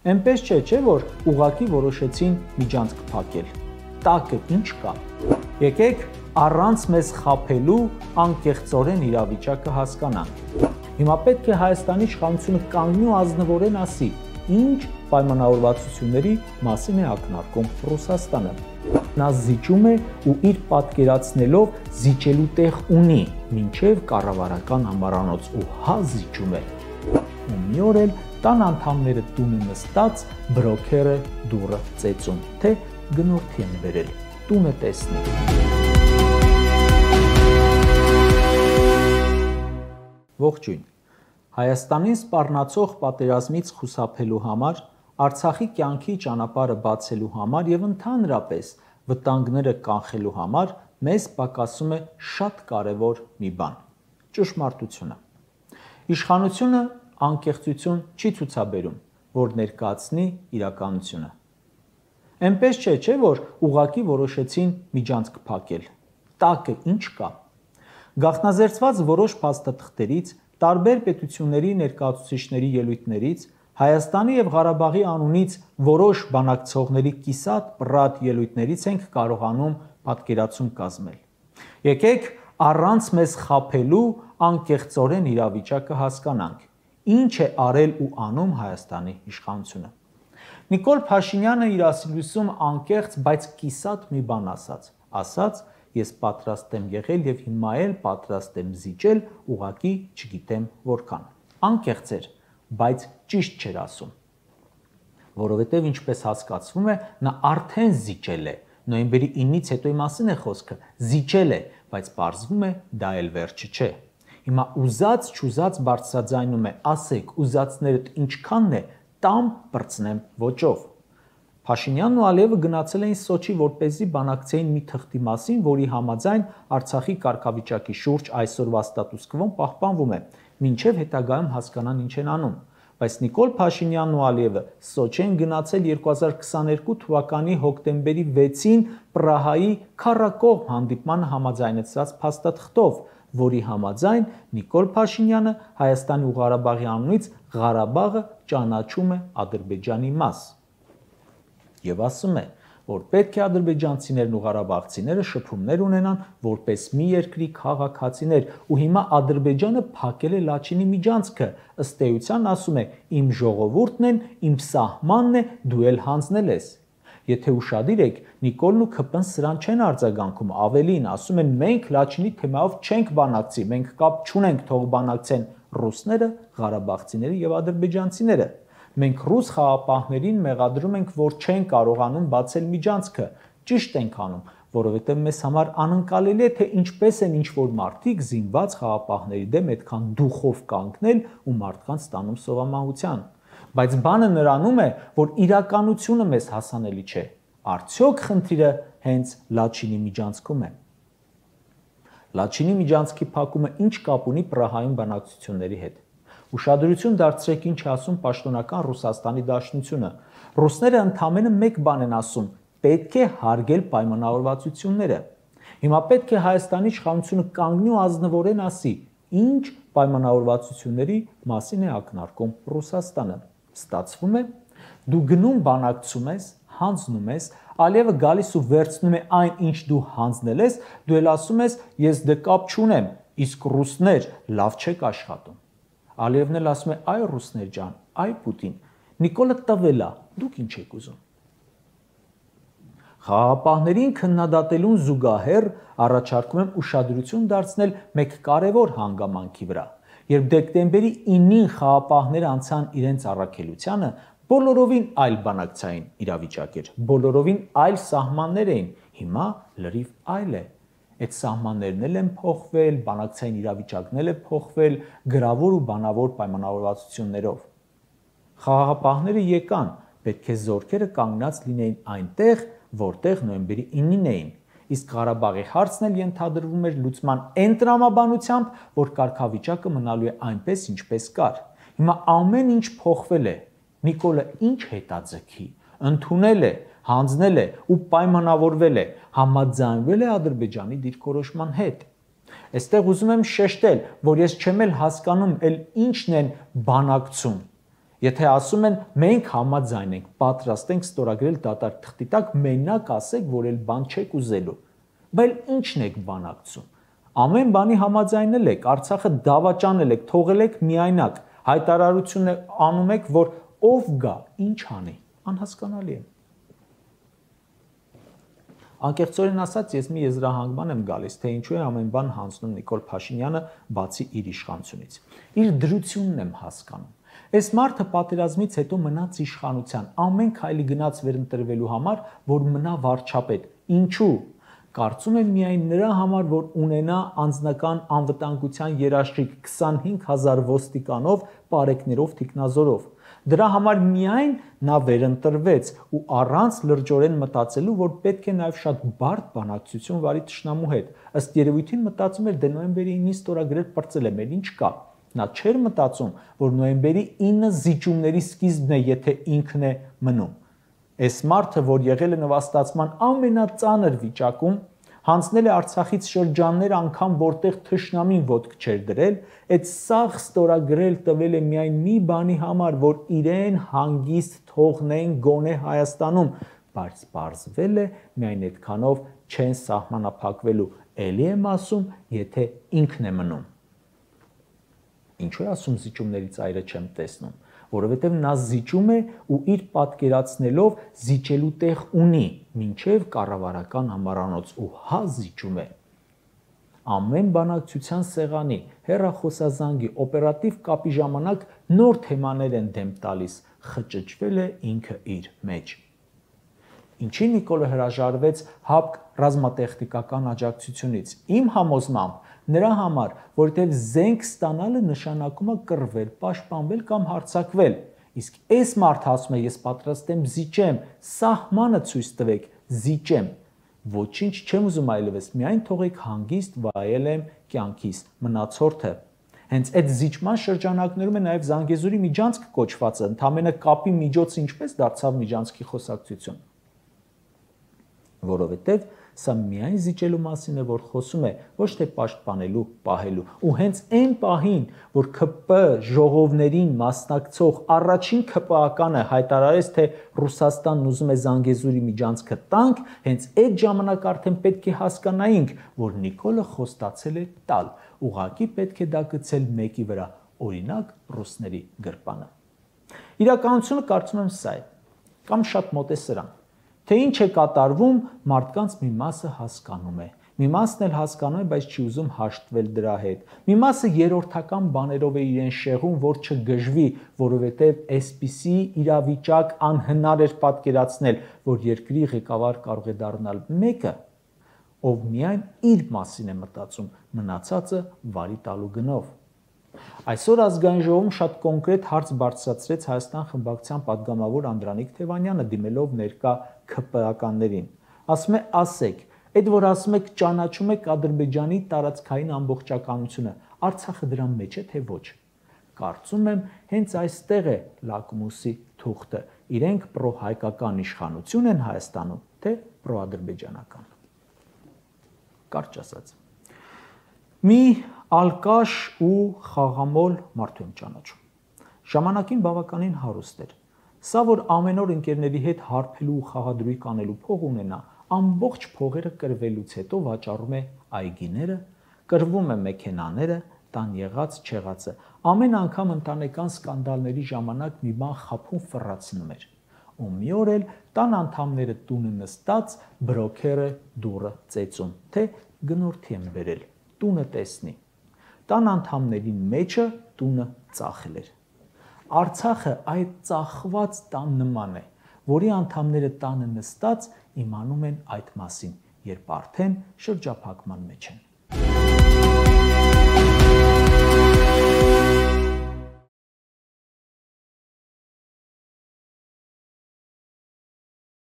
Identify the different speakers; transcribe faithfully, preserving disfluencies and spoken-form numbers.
Speaker 1: Էնպես չէ, չէ, որ ուղղակի որոշեցին միջանցք փակել։ Տակը ինչ կա։ Եկեք առանց մեզ խաբելու անկեղծորեն իրավիճակը հասկանանք։ Հիմա պետք է Հայաստանի իշխանությունը կանգնի ու ազնվորեն ասի, ինչ պայմանավորվածությունների մասին է ակնարկում Ռուսաստանը։ Նա զիջում է ու իր պատկերացնելով զիջելու տեղ ունի, մինչև կառավարական համարանոց ու հա զիջում է։ Ու մի օր էլ տան անդամները տունը նստած բրոքերը դուռը ծեծում, թե գնորդի են բերել, տունը տեսնի։ Ողջույն։ Հայաստանին սպառնացող պատերազմից խուսափելու համար, Արցախի կյանքի ճանապարհը բացելու համար եւ ընդհանրապես վտանգները կանխելու համար մեզ պակասում է շատ կարևոր մի բան՝ ճշմարտությունը։ Իշխանությունը անկեղծություն չի ցուցաբերում, որ ներկայացնի իրականությունը։ Էնպես չէ, չէ, որ ուղղակի որոշեցին միջանցք փակել։ Տակը ինչ կա։ Գաղտնազերծված որոշ փաստաթղթերից, տարբեր պետությունների ներկայացուցիչների ելույթներից, Հայաստանի եւ Ղարաբաղի անունից որոշ բանակցողների կիսատ պռատ ելույթներից ենք կարողանում պատկերացում կազմել։ Եկեք առանց մեզ խաբելու անկեղծորեն իրավիճակը հասկանանք, ինչ է արել ու անում Հայաստանի իշխանությունը։ Նիկոլ Փաշինյանը իր ասիլույսում անկեղծ, բայց կիսատ մի բան ասաց, ասաց. Ես պատրաստ եմ եղել եւ հիմա էլ պատրաստ եմ զիջել, ուղղակի չգիտեմ որքան։ Անկեղծ էր, բայց ճիշտ չէր ասում, որովհետև ինչպես հասկացվում է, նա արդեն զիջել է, նոյեմբերի ինից հետոյի մասին է խոսքը, զիջել է, բայց պարզվում է դա էլ վերջը չէ։ Հիմա ուզած չուզած բարձրաձայնում է, ասեք, ուզածներդ ինչքանն է, տամ պրծնեմ ոճով։ Փաշինյանն ու Ալիևը գնացել էին Սոչի, որպեսզի բանակցեին մի թղթի մասին, որի համաձայն Արցախի կարգավիճակի շուրջ այսօրվա ստատուս քվոն պահպանվում է, մինչև հետագայում հասկանան ինչ են անում։ Բայց Նիկոլ Փաշինյանն ու Ալիևը Սոչի են գնացել երկու հազար քսաներկու թվականի հոկտեմբերի վեցին Պրահայի քառակողմ հանդիպմանը համաձայնեցրած փաստաթղթով, որի համաձայն Նիկոլ Փաշինյանը Հայաստանի ու Ղարաբաղի անունից Ղարաբաղը ճանաչում է Ադրբեջանի մաս։ Եվ ասում է, որ պետք է ադրբեջանցիներն ու ղարաբաղցիները շփումներ ունենան որպես մի երկրի քաղաքացիներ, ու հիմա Ադրբեջանը փակել է Լաչինի միջանցքը, ըստ էության ասում է, իմ ժողովուրդն են, իմ սահմանն է, դու էլ հանձնել ես։ Եթե ուշադիր եք, Նիկոլն ու ՔՊ-ն սրան չեն արձագանքում, ավելին ասում են, մենք Լաչինի թեմայով չենք բանակցի, մենք կապ չունենք, թող բանակցեն ռուսները, ղարաբաղցիները եւ ադրբեջանցիները։ Մենք ռուս խաղապահներին մեղադրում ենք, որ չեն կարողանում բացել միջանցքը, ճիշտ ենք անում, որովհետև մեզ համար անկարելի է, թե ինչպես են ինչ-որ մարդիկ զինված խաղապահների դեմ այդքան դուխով կանգնել ու մարդկանց տանում սովամահության։ Բայց բանը նրանում է, որ իրականությունը մեզ հասանելի չէ։ Արդյոք խնդիրը հենց Լաչինի միջանցքում է։ Լաչինի միջանցքի փակումը ինչ կապ ունի Պրահայում բանակցությունների հետ։ Ուշադրություն դարձրեք ինչ է ասում պաշտոնական Ռուսաստանի Դաշնությունը։ Ռուսները ընդամենը մեկ բան են ասում՝ պետք է հարգել պայմանավորվածությունները։ Հիմա պետք է Հայաստանի իշխանությունը կանգնի ու ազնվորեն ասի, ինչ պայմանավորվածությունների մասին է ակնարկում Ռուսաստանը։ Ստացվում է, դու գնում բանակցում ես, հանձնում ես, Ալիևը գալիս ու վերցնում է այն, ինչ դու հանձնել ես, դու էլ ասում ես, ես դե կապ չունեմ, իսկ ռուսներ լավ չեք աշխատում։ Ալիևն էլ ասում է, այ ռուսներ ջան, այ Պուտին, Նիկոլը տվել է, դուք ինչ եք ուզում։ Խաղապահներին քննադատելուն զուգահեռ առաջարկում եմ ուշադրություն դարձնել մեկ կարևոր հանգամանքի վրա։ Երբ դեկտեմբերի ինին խաղապահները անցան իրենց առաքելությանը, բոլորովին այլ բանակցային իրավիճակ էր, բոլորովին այլ սահմաններ էին, հիմա լրիվ այլ է։ Այդ սահմաններն էլ են փոխվել, բանակցային իրավիճակն էլ է փոխվել գրավոր ու բանավոր պայմանավորվածություններով։ Խաղաղապահները եկան, պետք է զորքերը կանգնած լինեին այնտեղ, որտեղ նոյեմբերի ինին էին, իսկ Ղարաբաղի հարցն էլ ենթադրվում էր լուծման այն տրամաբանությամբ, որ կարգավիճակը մնալու է այնպես, ինչպես կար։ Հիմա ամեն ինչ փոխվել է։ Նիկոլը ինչ հետաձգի, ընդունել է, հանձնել է ու պայմանավորվել է, համաձայնվել է Ադրբեջանի դիրքորոշման հետ։ Այստեղ ուզում եմ շեշտել, որ ես չեմ էլ հասկանում, էլ ինչն են բանակցում։ Եթե ասում են մենք համաձայն ենք, պատրաստ ենք ստորագրել դատարկ թղթի տակ, մենակ ասեք, որ էլ բան չեք ուզելու։ Բայց ի՞նչն եք բանակցում։ Ամեն բանի համաձայնել եք, Արցախը դավաճանել եք, թողել եք միայնակ, հայտարարություն անում եք, որ ով գա, ինչ անի, անհասկանալի է։ Անկեղծորեն ասած, ես մի եզրահանգման եմ գալիս, թե ինչու է ամեն բան հանձնում Նիկոլ Փաշինյանը, բացի իր իշխանությունից։ Իր դրությունն եմ հասկանում։ Այս մարդը պատերազմից հետո մնաց իշխանության, ամեն քայլի գնաց վերընտրվելու համար, որ մնա վարչապետ։ Ինչու։ Կարծում եմ միայն նրա համար, որ ունենա անձնական անվտանգության երաշխիք քսանհինգ հազար ոստիկանով, պարեկներով, թիկնազորով։ Դրա համար միայն նա վերընտրվեց ու առանց լրջորեն մտածելու, որ պետք է նաև շատ բարդ բանակցություն վարի թշնամու հետ։ Ըստ երևույթին մտածում էր, դե նոյեմբերի ինին ստորագրել պրծել է, մեր ինչ կա։ Նա չէր մտածում, որ նոյեմբերի ինը զիջումների սկիզբն է, եթե ինքն է մնում։ Այս մարդը, որ եղել է նվաստացման ամենածանր վիճակում, հանձնել է Արցախից շրջաններ անգամ, որտեղ թշնամին ոտք չէր դրել, այդ սաղ ստորագրել տվել է միայն մի բանի համար, որ իրեն հանգիստ թողնեն գոնե Հայաստանում, բայց պարզվել է միայն այդքանով չեն սահմանափակվելու, էլի եմ ասում, եթե ինքն է մնում։ Ինչու է ասում զիջումների ծայրը չեմ տեսնում, որովհետև նա զիջում է ու իր պատկերացնելով զիջելու տեղ ունի, մինչև կառավարական համառանոց ու հա զիջում է։ Ամեն բանակցության սեղանի, հեռախոսազանգի, օպերատիվ կապի ժամանակ նոր թեմաներ են դեմ տալիս, խճճվել է ինքը իր մեջ։ Ինչի Նիկոլը հրաժարվեց ՀԱՊԿ ռազմատեխնիկական աջակցությունից։ Իմ համոզմամբ նրա համար, որտեղ զենք ստանալը նշանակում է կռվել, պաշտպանվել կամ հարձակվել։ Իսկ այս մարդը ասում է, ես պատրաստ եմ զիջեմ, սահմանը ցույց տվեք, զիջեմ։ Ոչինչ չեմ ուզում այլևս, միայն թողեք հանգիստ վայել եմ կյանքիս, մնացորդը։ Հենց այդ զիջման շրջանակներում է նաև Զանգեզուրի միջանցք կոչվածը, ընդամենը կապի միջոցը ինչպես դարձավ միջանցքի խոսակցություն։ Որովհետև սա միայն զիջելու մասին է, որ խոսում է, ոչ թե պաշտպանելու, պահելու։ Ու հենց այն պահին, որ ՔՊ ժողովներին մասնակցող առաջին ՔՊ-ականը հայտարարեց, թե Ռուսաստանն ուզում է Զանգեզուրի միջանցքը տանք, հենց այդ ժամանակ արդեն պետք է հասկանայինք, որ Նիկոլը խոստացել է տալ, ուղղակի պետք է դա գցել մեկի վրա, օրինակ ռուսների գրպանը։ Իրականությունը կարծում եմ սա է, կամ շատ մոտ է սրան։ Թե ինչ է կատարվում, մարդկանց մի մասը հասկանում է, մի մասն էլ հասկանում է, բայց չի ուզում հաշտվել դրա հետ։ Մի մասը երրորդական բաներով է իրեն շեղում, որ չգժվի, որովհետև այսպիսի իրավիճակ անհնար էր պատկերացնել, որ երկրի ղեկավար կարող է դառնալ մեկը, ով միայն իր մասին է մտածում, մնացածը վարի տալու գնով։ Այսօր ազգային ժողովում շատ կոնկրետ հարց բարձրացրեց Հայաստան խմբակցության падգամավոր Անդրանիկ Թևանյանը, դիմելով ներկա ՔՊ-ականներին։ Ասում է, ասեք, այդ որ ասում եք ճանաչում եք Ադրբեջանի տարածքային ամբողջականությունը, Արցախը դրան մեջ է, թե ոչ։ Կարծում եմ, հենց այստեղ է լակմուսի թուղթը։ Իրենք պրոհայկական իշխանություն են Հայաստանում, թե պրոադրբեջանական։ Կարճ ասած։ Մի ալկաշ ու խաղամոլ մարդու եմ ճանաչում։ Ժամանակին բավականին հարուստ էր։ Սա, որ ամեն օր ընկերների հետ հարբելու ու խաղադրույք անելու փող ունենա, ամբողջ փողերը կրվելուց հետո վաճառում է այգիները, կրվում է մեքենաները, տան եղած չեղածը։ Ամեն անգամ ընտանեկան սկանդալների ժամանակ մի բան խափում ֆռացնում էր։ Ու մի օր էլ տան անդամները տունը նստած բրոքերը դուռը ծեծում, թե գնորդի եմ բերել, տունը տեսնի։ Տան անդամների մեջը տունը ծախել էր։ Արցախը այդ ծախված տան նման է, որի անդամները տանը նստած իմանում են այդ մասին, երբ արդեն շրջափակման մեջ են։